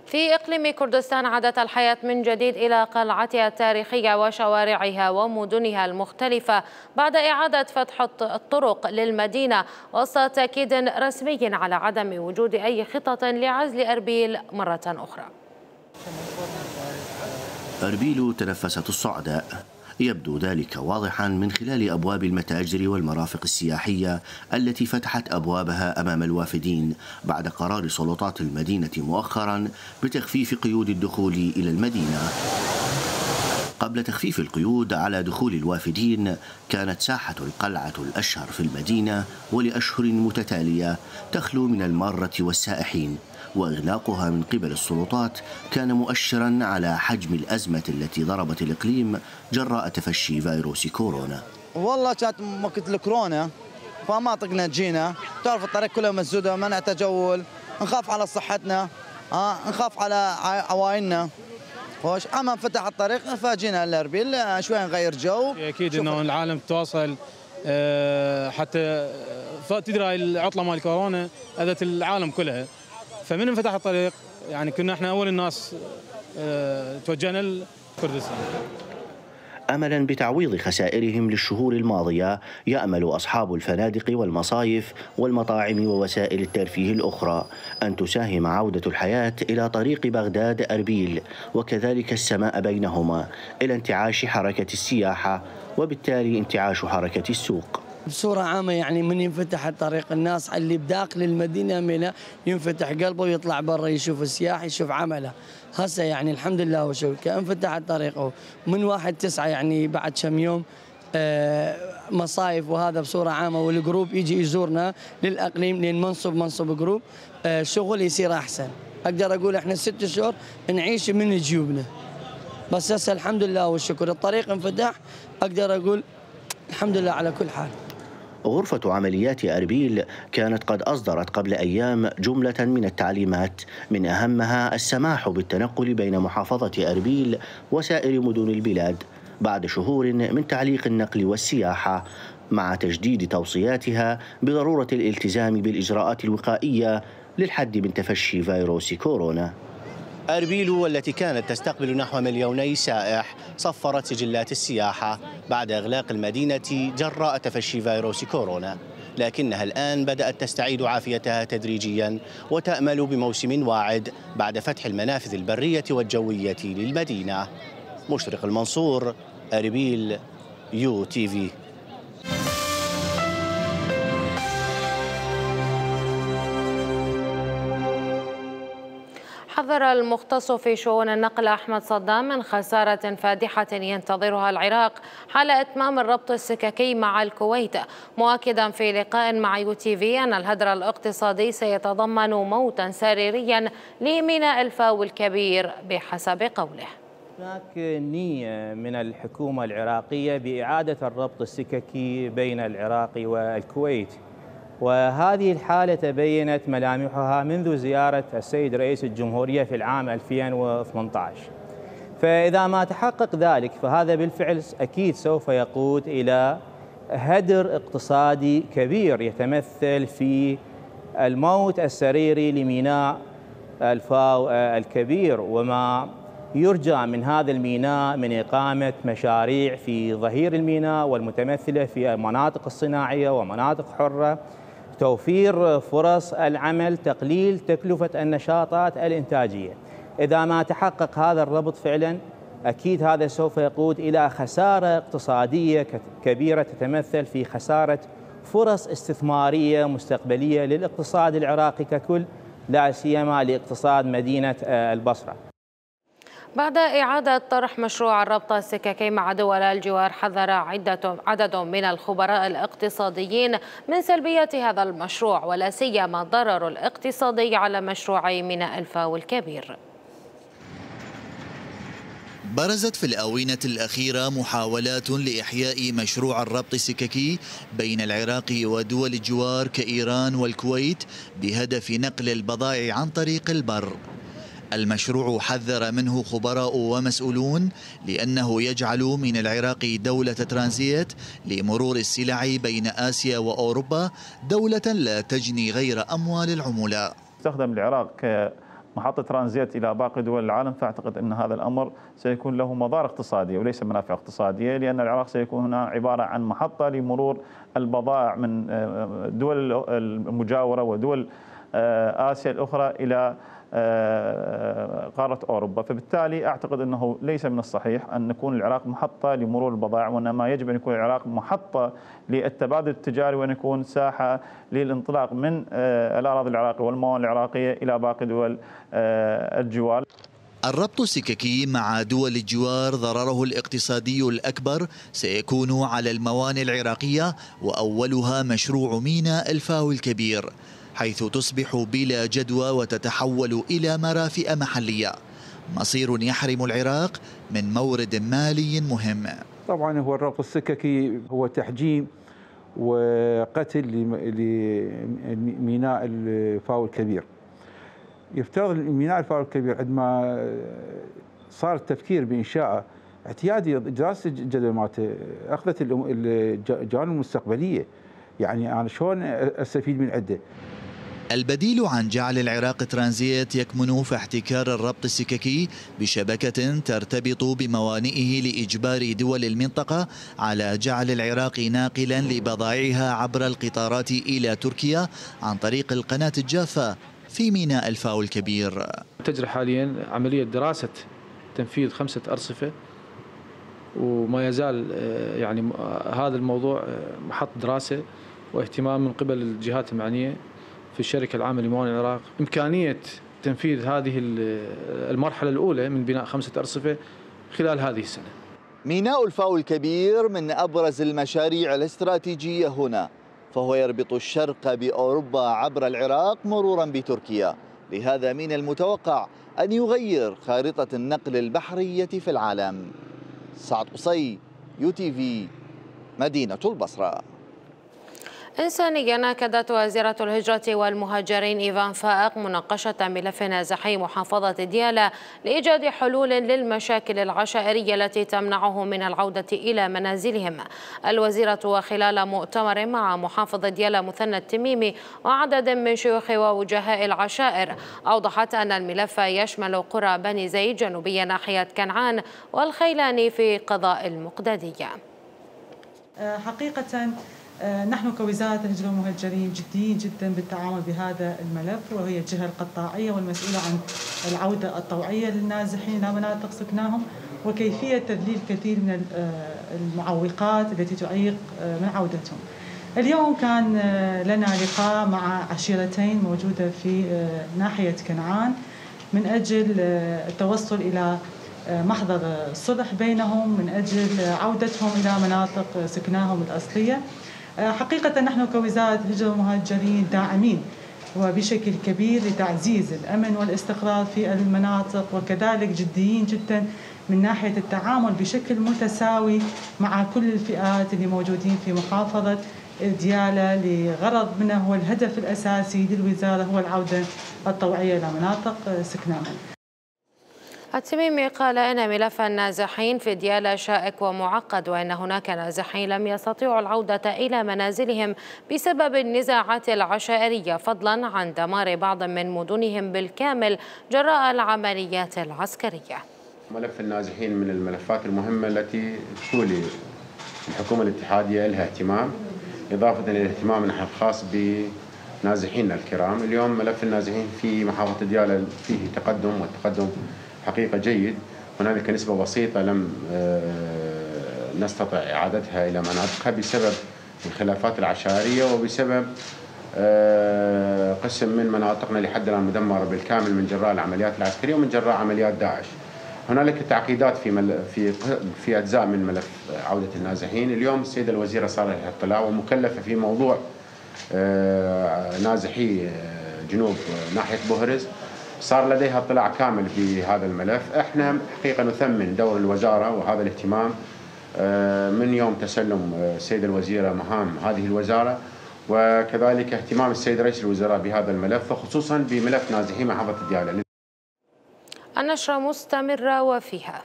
في إقليم كردستان عادت الحياة من جديد إلى قلعتها التاريخية وشوارعها ومدنها المختلفة بعد إعادة فتح الطرق للمدينة وسط تأكيد رسمي على عدم وجود أي خطط لعزل أربيل مرة أخرى. أربيل تنفست الصعداء، يبدو ذلك واضحا من خلال أبواب المتاجر والمرافق السياحية التي فتحت أبوابها أمام الوافدين بعد قرار سلطات المدينة مؤخرا بتخفيف قيود الدخول إلى المدينة. قبل تخفيف القيود على دخول الوافدين كانت ساحة القلعة الأشهر في المدينة ولأشهر متتالية تخلو من المارة والسائحين، وإغلاقها من قبل السلطات كان مؤشرا على حجم الأزمة التي ضربت الإقليم جراء تفشي فيروس كورونا. والله كانت وقت الكورونا فما طقنا جينا، تعرف الطريق كلها مسدودة، منع تجول، نخاف على صحتنا، نخاف على عوائلنا. خوش اما انفتح الطريق فجينا لاربيل شوي نغير جو. اكيد انه العالم تواصل حتى تدري العطله مال كورونا اذت العالم كلها، فمن انفتح الطريق يعني كنا احنا اول الناس توجهنا لكردستان. أملا بتعويض خسائرهم للشهور الماضية، يأمل أصحاب الفنادق والمصايف والمطاعم ووسائل الترفيه الأخرى أن تساهم عودة الحياة إلى طريق بغداد أربيل وكذلك السماء بينهما إلى انتعاش حركة السياحة وبالتالي انتعاش حركة السوق. بصورة عامة يعني من ينفتح الطريق الناس اللي بداخل المدينة منها ينفتح قلبه ويطلع برا يشوف السياح يشوف عمله. هسه يعني الحمد لله وشكر كانفتح الطريق من 1/9 يعني بعد كم يوم مصايف وهذا بصورة عامة، والجروب يجي يزورنا للأقليم لين منصب جروب شغل يصير أحسن. أقدر أقول إحنا 6 شهور نعيش من جيوبنا، بس هسه الحمد لله والشكر الطريق انفتح، أقدر أقول الحمد لله على كل حال. غرفة عمليات أربيل كانت قد أصدرت قبل أيام جملة من التعليمات، من أهمها السماح بالتنقل بين محافظة أربيل وسائر مدن البلاد بعد شهور من تعليق النقل والسياحة، مع تجديد توصياتها بضرورة الالتزام بالإجراءات الوقائية للحد من تفشي فيروس كورونا. أربيل والتي كانت تستقبل نحو 2,000,000 سائح صفرت سجلات السياحة بعد إغلاق المدينة جراء تفشي فيروس كورونا، لكنها الآن بدأت تستعيد عافيتها تدريجيا وتأمل بموسم واعد بعد فتح المنافذ البرية والجوية للمدينة. مشرق المنصور، أربيل، UTV. حذر المختص في شؤون النقل أحمد صدام من خسارة فادحة ينتظرها العراق حال إتمام الربط السككي مع الكويت، مؤكدا في لقاء مع UTV أن الهدر الاقتصادي سيتضمن موتا سريريا لميناء الفاو الكبير بحسب قوله. هناك نية من الحكومة العراقية بإعادة الربط السككي بين العراق والكويت، وهذه الحالة تبينت ملامحها منذ زيارة السيد رئيس الجمهورية في العام 2018. فإذا ما تحقق ذلك فهذا بالفعل أكيد سوف يقود إلى هدر اقتصادي كبير يتمثل في الموت السريري لميناء الفاو الكبير، وما يرجى من هذا الميناء من إقامة مشاريع في ظهير الميناء والمتمثلة في المناطق الصناعية ومناطق حرة، توفير فرص العمل، تقليل تكلفة النشاطات الإنتاجية. إذا ما تحقق هذا الربط فعلا أكيد هذا سوف يقود إلى خسارة اقتصادية كبيرة تتمثل في خسارة فرص استثمارية مستقبلية للاقتصاد العراقي ككل، لا سيما لاقتصاد مدينة البصرة. بعد إعادة طرح مشروع الربط السككي مع دول الجوار، حذر عدد من الخبراء الاقتصاديين من سلبية هذا المشروع ولا سيما الضرر الاقتصادي على مشروع ميناء الفاو الكبير. برزت في الآونة الأخيرة محاولات لإحياء مشروع الربط السككي بين العراق ودول الجوار كإيران والكويت بهدف نقل البضائع عن طريق البر. المشروع حذر منه خبراء ومسؤولون لأنه يجعل من العراق دولة ترانزيت لمرور السلع بين آسيا وأوروبا، دولة لا تجني غير أموال العملاء. استخدم العراق كمحطة ترانزيت إلى باقي دول العالم، فأعتقد أن هذا الأمر سيكون له مضار اقتصادية وليس منافع اقتصادية، لأن العراق سيكون هنا عبارة عن محطة لمرور البضائع من الدول المجاورة ودول آسيا الأخرى إلى قارة أوروبا. فبالتالي أعتقد أنه ليس من الصحيح أن نكون العراق محطة لمرور البضائع، وإنما يجب أن يكون العراق محطة للتبادل التجاري، وأن يكون ساحة للانطلاق من الأراضي العراقية والموانئ العراقية إلى باقي دول الجوار. الربط السككي مع دول الجوار ضرره الاقتصادي الأكبر سيكون على الموانئ العراقية، وأولها مشروع ميناء الفاو الكبير، حيث تصبح بلا جدوى وتتحول إلى مرافئ محلية، مصير يحرم العراق من مورد مالي مهم. طبعا هو الربط السككي هو تحجيم وقتل لميناء الفاو الكبير. يفترض ميناء الفاو الكبير عندما صار التفكير بإنشائه اعتيادي دراسة الجدوى مالته أخذت الجوانب المستقبلية، يعني أنا شلون أستفيد من عده. البديل عن جعل العراق ترانزيت يكمن في احتكار الربط السككي بشبكة ترتبط بموانئه لإجبار دول المنطقة على جعل العراق ناقلا لبضائعها عبر القطارات إلى تركيا عن طريق القناة الجافة في ميناء الفاو الكبير. تجري حاليا عملية دراسة تنفيذ 5 أرصفة، وما يزال يعني هذا الموضوع محط دراسة واهتمام من قبل الجهات المعنية في الشركة العامة لموانئ العراق. إمكانية تنفيذ هذه المرحلة الأولى من بناء 5 أرصفة خلال هذه السنة. ميناء الفاو الكبير من أبرز المشاريع الاستراتيجية هنا، فهو يربط الشرق بأوروبا عبر العراق مرورا بتركيا. لهذا من المتوقع أن يغير خارطة النقل البحرية في العالم. سعد قصي، UTV، مدينة البصرة. إنسانيا أكدت وزيرة الهجرة والمهاجرين إيفان فائق مناقشة ملف نازحي محافظة ديالى لإيجاد حلول للمشاكل العشائرية التي تمنعه من العودة إلى منازلهم. الوزيرة وخلال مؤتمر مع محافظ ديالى مثنى التميمي وعدد من شيوخ ووجهاء العشائر أوضحت أن الملف يشمل قرى بني زيد جنوبية ناحية كنعان والخيلاني في قضاء المقدادية. حقيقة نحن كوزارة الهجرة والمهاجرين جديين جدا بالتعامل بهذا الملف، وهي الجهة القطاعية والمسؤولة عن العودة الطوعية للنازحين إلى مناطق سكناهم، وكيفية تذليل كثير من المعوقات التي تعيق من عودتهم. اليوم كان لنا لقاء مع عشيرتين موجودة في ناحية كنعان من أجل التوصل إلى محضر الصلح بينهم من أجل عودتهم إلى مناطق سكناهم الأصلية. حقيقة نحن كوزارة الهجرة والمهاجرين داعمين وبشكل كبير لتعزيز الأمن والاستقرار في المناطق، وكذلك جديين جدا من ناحية التعامل بشكل متساوي مع كل الفئات اللي موجودين في محافظة ديالى، لغرض منه هو الهدف الأساسي للوزارة هو العودة الطوعية إلى مناطق سكناهم. التميمي قال إن ملف النازحين في ديالى شائك ومعقد، وإن هناك نازحين لم يستطيعوا العودة إلى منازلهم بسبب النزاعات العشائرية، فضلا عن دمار بعض من مدنهم بالكامل جراء العمليات العسكرية. ملف النازحين من الملفات المهمة التي تولي الحكومة الاتحادية لها اهتمام، إضافة إلى الاهتمام نحن الخاص بنازحيننا الكرام. اليوم ملف النازحين في محافظة ديالى فيه تقدم، والتقدم حقيقة جيد. هنالك نسبة بسيطة لم نستطع إعادتها إلى مناطقها بسبب الخلافات العشائرية وبسبب قسم من مناطقنا لحد الآن مدمرة بالكامل من جراء العمليات العسكرية ومن جراء عمليات داعش. هنالك تعقيدات في أجزاء من ملف عودة النازحين. اليوم السيدة الوزيرة صار لها اطلاع ومكلفة في موضوع نازحي جنوب ناحية بوهرز، صار لديها اطلاع كامل في هذا الملف. احنا حقيقة نثمن دور الوزارة وهذا الاهتمام من يوم تسلم السيدة الوزيرة مهام هذه الوزارة، وكذلك اهتمام السيد رئيس الوزراء بهذا الملف، وخصوصا بملف نازحي محافظة ديالى. النشرة مستمرة وفيها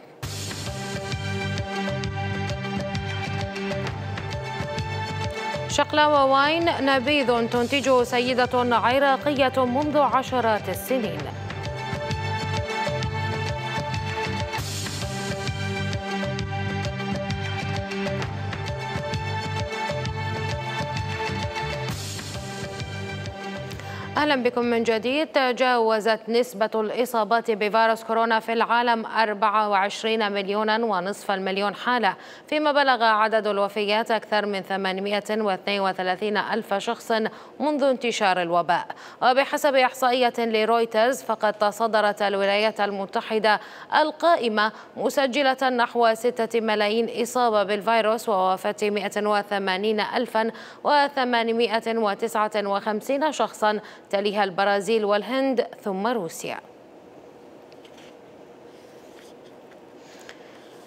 شقلاوة واين نبيذ تنتجه سيدة عراقية منذ عشرات السنين. أهلا بكم من جديد. تجاوزت نسبة الإصابات بفيروس كورونا في العالم 24 مليونا ونصف المليون حالة، فيما بلغ عدد الوفيات أكثر من 832 ألف شخص منذ انتشار الوباء. وبحسب إحصائية لرويترز فقد تصدرت الولايات المتحدة القائمة مسجلة نحو 6 ملايين إصابة بالفيروس ووفاة 180,859 شخصا، تليها البرازيل والهند ثم روسيا.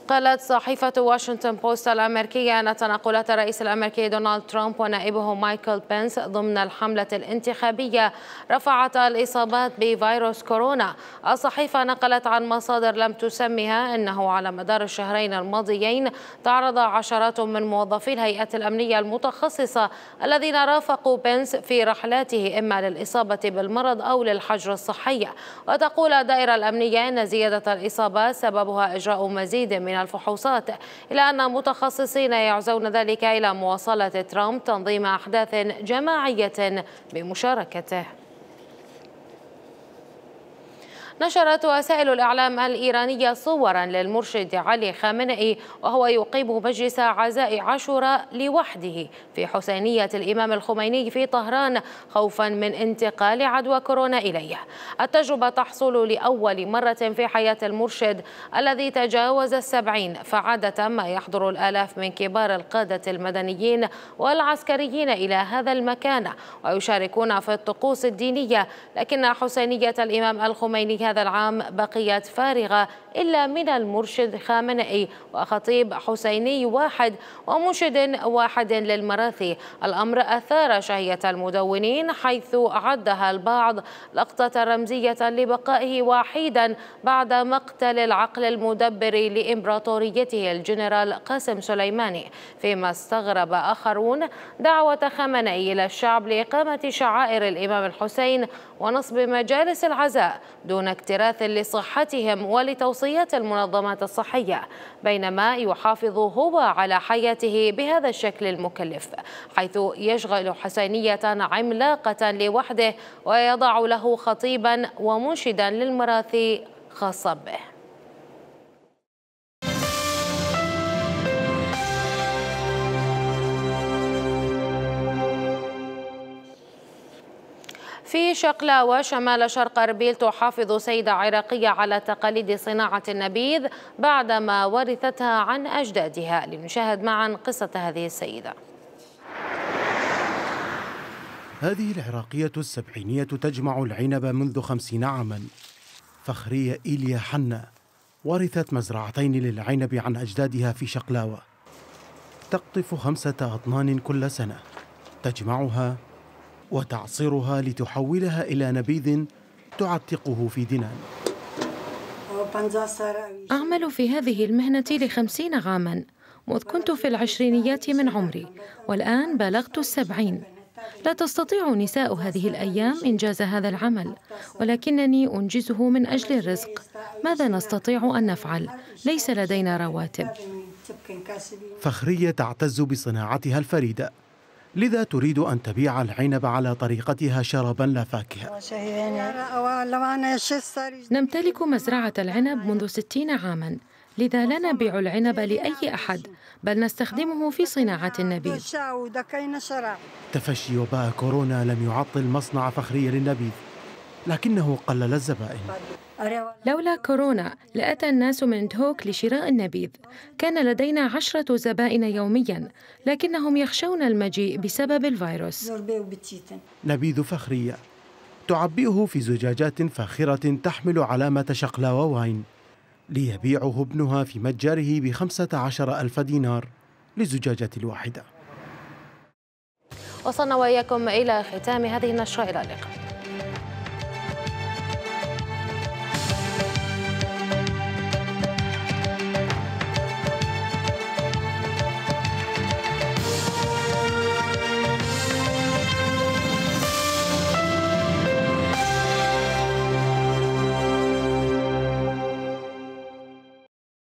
قالت صحيفة واشنطن بوست الأمريكية أن تنقلات الرئيس الأمريكي دونالد ترامب ونائبه مايكل بنس ضمن الحملة الانتخابية رفعت الإصابات بفيروس كورونا. الصحيفة نقلت عن مصادر لم تسمها أنه على مدار الشهرين الماضيين تعرض عشرات من موظفي الهيئات الأمنية المتخصصة الذين رافقوا بنس في رحلاته إما للإصابة بالمرض أو للحجر الصحي. وتقول الدائرة الأمنية أن زيادة الإصابات سببها إجراء مزيد من الفحوصات، إلى أن متخصصين يعزون ذلك إلى مواصلة ترامب تنظيم أحداث جماعية بمشاركته. نشرت وسائل الإعلام الإيرانية صورا للمرشد علي خامنئي وهو يقيم مجلس عزاء عاشوراء لوحده في حسينية الإمام الخميني في طهران خوفا من انتقال عدوى كورونا إليه. التجربة تحصل لأول مرة في حياة المرشد الذي تجاوز 70، فعادة ما يحضر الآلاف من كبار القادة المدنيين والعسكريين إلى هذا المكان ويشاركون في الطقوس الدينية، لكن حسينية الإمام الخميني هذا العام بقيت فارغة إلا من المرشد خامنئي وخطيب حسيني واحد ومنشد واحد للمراثي. الأمر أثار شهية المدونين حيث عدها البعض لقطة رمزية لبقائه وحيدا بعد مقتل العقل المدبر لإمبراطوريته الجنرال قاسم سليماني، فيما استغرب آخرون دعوة خامنئي إلى الشعب لإقامة شعائر الإمام الحسين ونصب مجالس العزاء دون اكتراث لصحتهم ولتوصيات المنظمات الصحية، بينما يحافظ هو على حياته بهذا الشكل المكلف، حيث يشغل حسينية عملاقة لوحده ويضع له خطيبا ومنشدا للمراثي خاصة به. في شقلاوة شمال شرق أربيل تحافظ سيدة عراقية على تقاليد صناعة النبيذ بعدما ورثتها عن أجدادها. لنشاهد معا قصة هذه السيدة. هذه العراقية السبعينية تجمع العنب منذ 50 عاما. فخرية إيليا حنا ورثت مزرعتين للعنب عن أجدادها في شقلاوة. تقطف 5 أطنان كل سنة، تجمعها وتعصرها لتحولها إلى نبيذ تعتقه في دنان. أعمل في هذه المهنة ل50 عاما منذ كنت في العشرينيات من عمري، والآن بلغت 70. لا تستطيع نساء هذه الأيام إنجاز هذا العمل، ولكنني أنجزه من أجل الرزق. ماذا نستطيع أن نفعل؟ ليس لدينا رواتب. فخرية تعتز بصناعتها الفريدة، لذا تريد أن تبيع العنب على طريقتها شرابا لا فاكهة. نمتلك مزرعة العنب منذ 60 عاما، لذا لا نبيع العنب لأي أحد، بل نستخدمه في صناعة النبيذ. تفشي وباء كورونا لم يعطل مصنع فخرية للنبيذ، لكنه قلل الزبائن. لولا كورونا لأتى الناس من دهوك لشراء النبيذ. كان لدينا 10 زبائن يوميا، لكنهم يخشون المجيء بسبب الفيروس. نبيذ فخرية تعبئه في زجاجات فاخرة تحمل علامة شقلاوة واين، ليبيعه ابنها في متجره ب15,000 دينار للزجاجة الواحدة. وصلنا وإياكم إلى ختام هذه النشرة، إلى اللقاء.